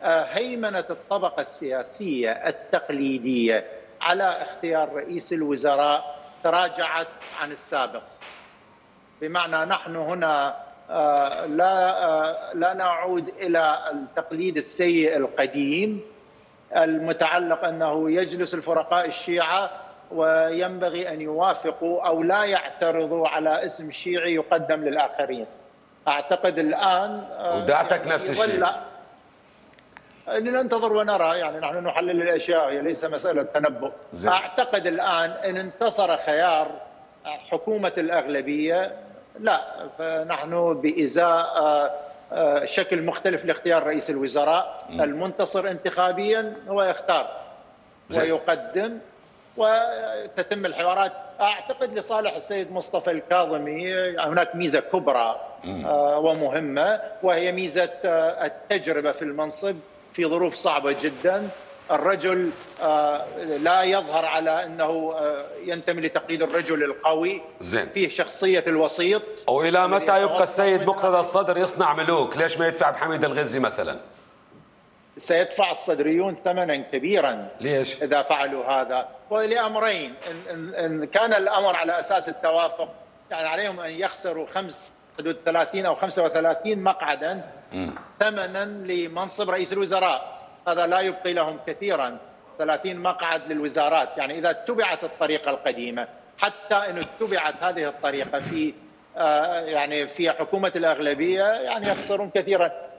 هيمنة الطبقة السياسية التقليدية على اختيار رئيس الوزراء تراجعت عن السابق. بمعنى نحن هنا لا نعود إلى التقليد السيء القديم المتعلق أنه يجلس الفرقاء الشيعة وينبغي أن يوافقوا أو لا يعترضوا على اسم شيعي يقدم للآخرين. أعتقد الآن ودعتك نفس الشيء. ننتظر ونرى، يعني نحن نحلل الأشياء، هي ليس مسألة تنبؤ. أعتقد الآن إن انتصر خيار حكومة الأغلبية، لا، فنحن بإزاء شكل مختلف لاختيار رئيس الوزراء. المنتصر انتخابيا هو يختار ويقدم وتتم الحوارات. أعتقد لصالح السيد مصطفى الكاظمي هناك ميزة كبرى ومهمة، وهي ميزة التجربة في المنصب في ظروف صعبة جدا. الرجل لا يظهر على أنه ينتمي لتقليد الرجل القوي، فيه شخصية الوسيط. وإلى متى يبقى السيد مقتدى الصدر يصنع ملوك؟ ليش ما يدفع بحميد الغزي مثلا؟ سيدفع الصدريون ثمنا كبيرا. ليش؟ إذا فعلوا هذا، ولأمرين. إن كان الأمر على أساس التوافق، يعني عليهم أن يخسروا حدود 30 أو 35 مقعدا ثمنا لمنصب رئيس الوزراء. هذا لا يبقي لهم كثيرا، 30 مقعد للوزارات. يعني إذا اتبعت الطريقة القديمة، حتى إن اتبعت هذه الطريقة في يعني في حكومة الأغلبية، يعني يخسرون كثيرا.